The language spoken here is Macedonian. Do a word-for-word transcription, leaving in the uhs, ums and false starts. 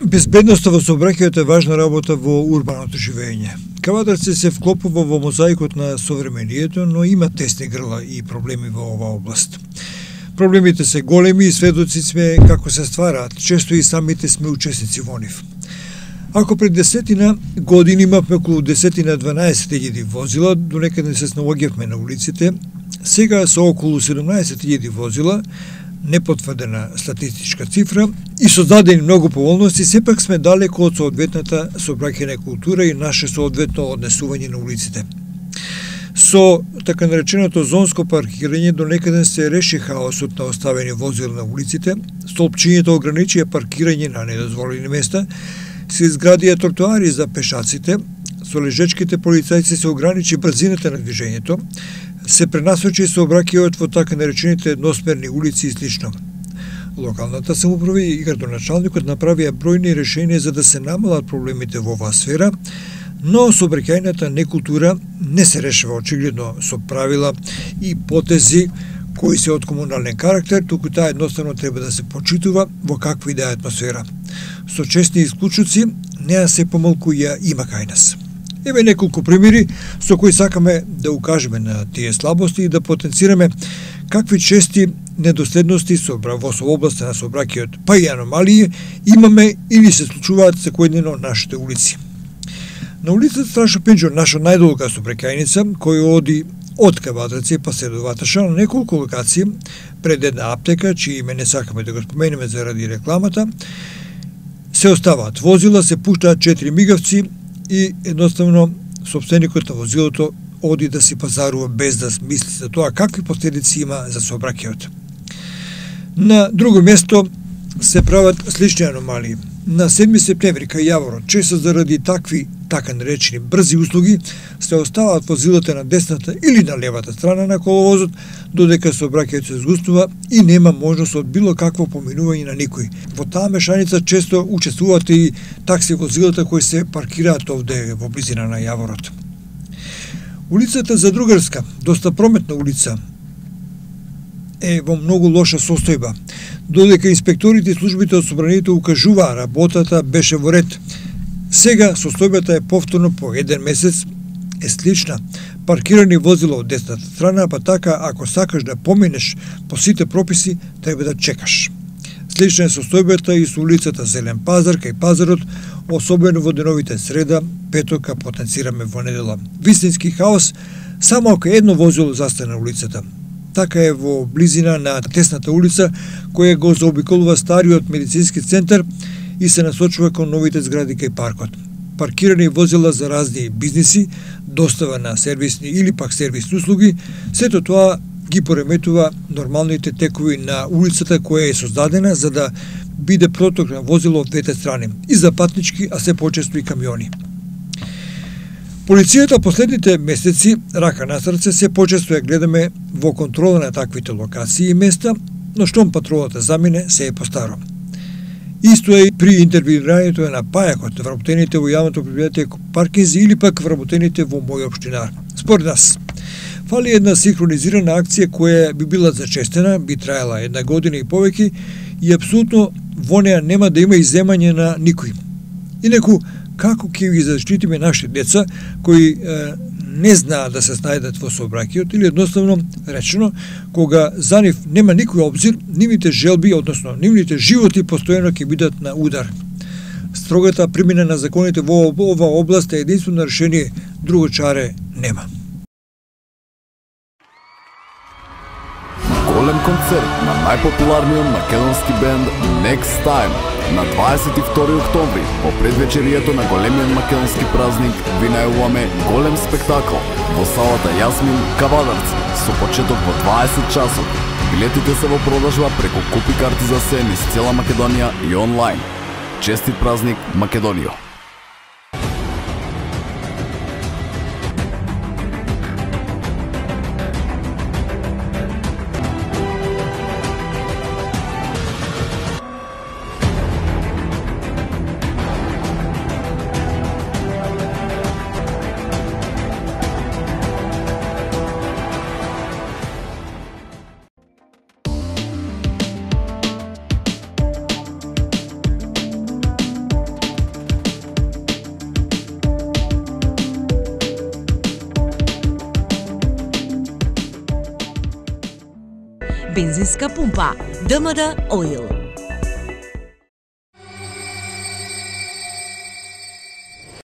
Безбедноста во сообраќајот е важна работа во урбаното живење. Кавадарци се вклопува во мозаикот на современието, но има тесни грла и проблеми во оваа област. Проблемите се големи и сведоци сме како се ствараат, често и самите сме учесници во нив. Ако пред десетина години имавме околу десетина дванаесет илјади возила, до некаде се снаоѓавме на улиците, сега со околу седумнаесет илјади возила, непотврдена статистичка цифра и создадени многу поволности, сепак сме далеко од соодветната сообраќајна култура и наше соодветно однесување на улиците. Со така нареченото зонско паркирање до некаде се реши хаосот на оставени возила на улиците, столпчињето ограничија паркирање на недозволени места, се изградија тротоари за пешаците, со лежечките полицајци се ограничи брзината на движењето, се пренасочи сообраќајот во така наречените едносмерни улици и слично. Локалната самоуправа и градоначалникот направија бројни решенија за да се намалат проблемите во оваа сфера, но сообраќајната некултура не се решава очигледно со правила и потези кои се од комунален карактер, туку таа едноставно треба да се почитува во каква и да е атмосфера. Со честни исклучоци, неа се помалку ја има кај нас. Еве неколку примери со кои сакаме да укажеме на тие слабости и да потенцираме какви чести недоследности со во областа на сообраќајот, па и аномалии имаме или се случуваат секојдневно на нашите улици. На улицата Страшо Пинџо, наша најдолга сообраќајница, која оди од Кавадарци па се до Ваташа на неколку локации пред една аптека, чие име не сакаме да го споменеме заради рекламата, се оставаат возила, се пуштаат четири мигавци и едноставно собственикот на возилото оди да си пазарува без да мисли за тоа какви последици има за сообраќајот. На друго место се прават слични аномалии. На седми септември кај Јаворот, често заради такви така наречени брзи услуги, се оставаат возилата на десната или на левата страна на коловозот, додека сообраќајот се згуснува и нема можност од било какво поминување на никој. Во таа мешаница често учествуваат и такси возилата кои се паркираат овде во близина на Јаворот. Улицата Задругарска, доста прометна улица, е во многу лоша состојба. Додека инспекторите и службите од собранието укажуваа работата беше во ред. Сега состојбата е повторно по еден месец е слична. Паркирани возила од десната страна, па така ако сакаш да поминеш по сите прописи, треба да чекаш. Слична е состојбата и со улицата Зелен пазар кај пазарот, особено во деновите среда, петока потенцираме во недела. Вистински хаос само ако едно возило застане на улицата. Така е во близина на тесната улица, која го заобиколува стариот медицински центар и се насочува кон новите згради кај паркот. Паркирани возила за разни бизниси, достава на сервисни или пак сервисни услуги, сето тоа ги пореметува нормалните текови на улицата која е создадена за да биде проток на возило од двете страни, и за патнички, а се почесто и камиони. Полицијата последните месеци, рака на срце, се почесто ја гледаме во контрола на таквите локации и места, но штом патролата замине, се е постаро. Исто е и при интервјуирањето на пајакот, вработените во јавното предпријатие паркинзи или пак вработените во мој општинар. Според нас, фали една синхронизирана акција која би била зачестена, би траела една година и повеќе и апсолутно во неа нема да има изземање на никој. Инаку, како ќе ги заштитиме нашите деца кои е, не знаат да се снајдат во сообраќајот или едноставно речено, кога за нив нема никој обзир, нивните желби, односно нивните животи постојано ќе бидат на удар. Строгата примена на законите во оваа област е единствено решение, друго чаре нема. Голем концерт на најпопуларниот македонски бенд Next Time на дваесет и втори октомври, по предвечерието на големиот македонски празник, ви најавуваме голем спектакл во салата Јасмин, Кавадарци, со почеток во дваесет часот. Билетите се во продажба преку Купи карти за се низ цела Македонија и онлайн. Честит празник, Македонијо! бензинска пумпа. ДМД Oil.